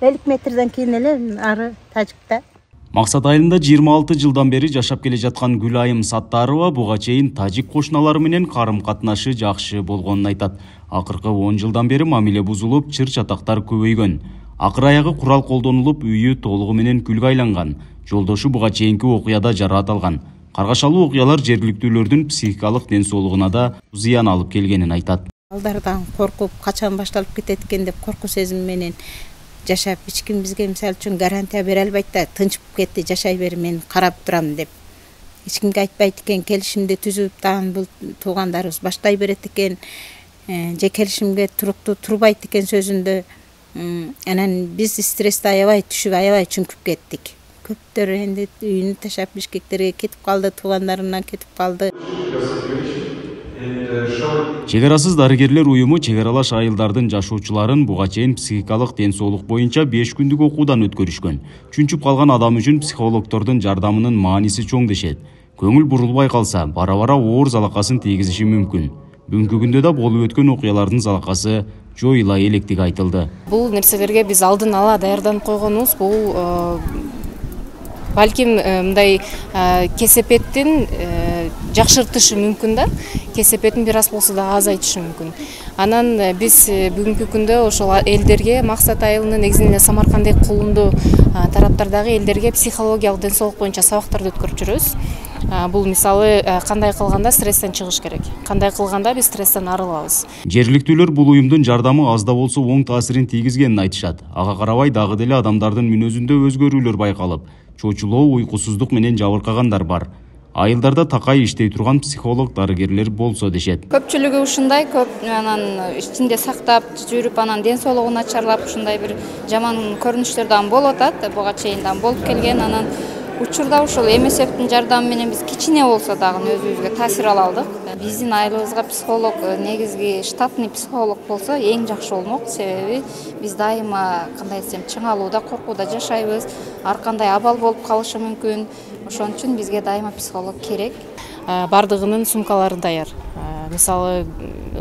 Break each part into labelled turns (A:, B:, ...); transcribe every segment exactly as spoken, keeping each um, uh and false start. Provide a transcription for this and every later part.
A: элүү метрден кийин эле ары Тажикта.
B: Максат айылында жыйырма алты жылдан бери жашап келе жаткан Гүлайым Саттарова буга чейин тажик кошуналары менен карым-катнашы жакшы болгонун айтат. Акыркы он жылдан бери мамиле бузулуп, чыр-чатактар көбөйгөн. Акыр аягы курал колдонулуп, үйү толугу менен күлгө айланган. Жолдошу буга чейинки окуяда жараат алган. Каргашалуу окуялар жергиликтүүлөрдүн психикалык ден соолугуна да зыян алып келгенин айтат.
A: Балдардан коркуп, качан башталып кетет экен деп коркуу сезими менен жашап, эч ким бизге мисалы үчүн гарантия бере албайт да, тынчып кетти, жашай бер, мен карап турам деп. Эч кимге айтпайт экен, келишимди түзүп, дагы бул туугандарыбыз баштай берет экен, же келишимге туруктуу турбайт экен сөзүндө. Анан биз стрессти аябай түшүп, аябай чүңкүп кеттик. Көптөр энди үйүнү ташап Бишкектерге кетип калды, туугандарынан кетип калды.
B: Чек арасыз дарыгерлер уюму чек аралаш айылдардын жашоочуларын буга чейин психикалык ден соолук боюнча беш күндүк окуудан өткөрүшкөн. Чүнчүп калган адам үчүн психологдордун жардамынын мааниси чоң дешет. Көңүл бурулбай калса, бара-бара оор залакасын тийгизиши мүмкүн. Бүгүнкү күндө да болуп өткөн окуялардын залакасы жоюла электиги айтылды.
C: Бул нерселерге биз алдын ала даярданып койгонубуз. Бул балким мындай кесепеттин жакшыртышы мүмкүн да, кесепеттин бир аз болсо да азайтышы мүмкүн. Анан биз бүгүнкү күндө ошол элдерге, Максат айылынын негизинде Самаркандек кулундуу тараптардагы элдерге психологиялык ден соолук боюнча сабактарды өткөрүп жүрөбүз. Бул мисалы кандай кылганда стресстен чыгыш керек, кандай кылганда биз стресстен арылабыз.
B: Жергиликтүүлөр бул уюмдун жардамы аз да болсо оң таасирин тийгизгенин айтышат. Ага карабай дагы деле адамдардын мүнөзүндө өзгөрүүлөр байкалып, чочулоо, уйкусуздук менен жабыркагандар бар. Айылдарда такай иштей турган психолог, дарыгерлер болсо дешет.
D: Көпчүлүгү ушундай, көп анан ичинде сактап жүрүп, анан ден соолугу начарлап, ушундай бир жаман көрүнүштөр дагы болуп атат. Буга чейин дагы болуп келген. Анан учурда ушул МСФтин жардамы менен биз кичине болсо дагы өзүбүзгө таасир ала алдык. Биздин айылыбызга психолог, негизги штатный психолог болсо эң жакшы болмок. Себеби биз дайыма кандай десем, чыңалууда, коркууда жашайбыз. Ар кандай абал болуп калышы мүмкүн. Ошон үчүн бизге дайыма психолог керек.
C: Бардыгынын сумкалары даяр. Мисалы,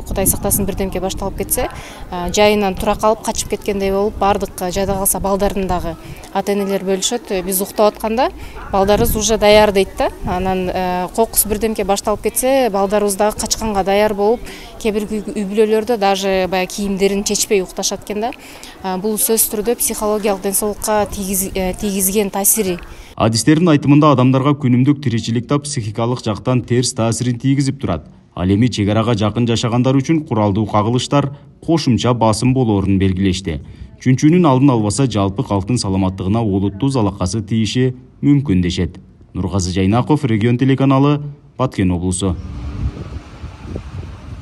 C: Кудай сактасын, бирдемке башталып кетсе, жайынан тура калып качып кеткендей болуп, бардык жайда калса балдарын дагы ата-энелер бөлүшөт. Биз уктап атканда балдарыбыз уже даяр дейт да. Анан кокус бирдемке башталып кетсе, балдарыбыз дагы качканга даяр болуп, кээ бир үй бүлөлөрдө даже баягы кийимдерин чечпей укташат экен да. Бул сөзсүз түрдө психологиялык ден соолукка тийгизген таасири.
B: Адистердин айтымында адамдарга күнүмдүк тиричиликте психикалык жактан терс таасирин тийгизип турат. Ал эми чек арага жакын жашагандар үчүн куралдуу кагылыштар кошумча басым болоорун белгилешти. Чүнчүүнүн алдын албаса, жалпы калктын саламаттыгына олуттуу залакасы тийиши мүмкүн дешет. Нургазы Жайнаков, Регион телеканалы, Баткен облусу.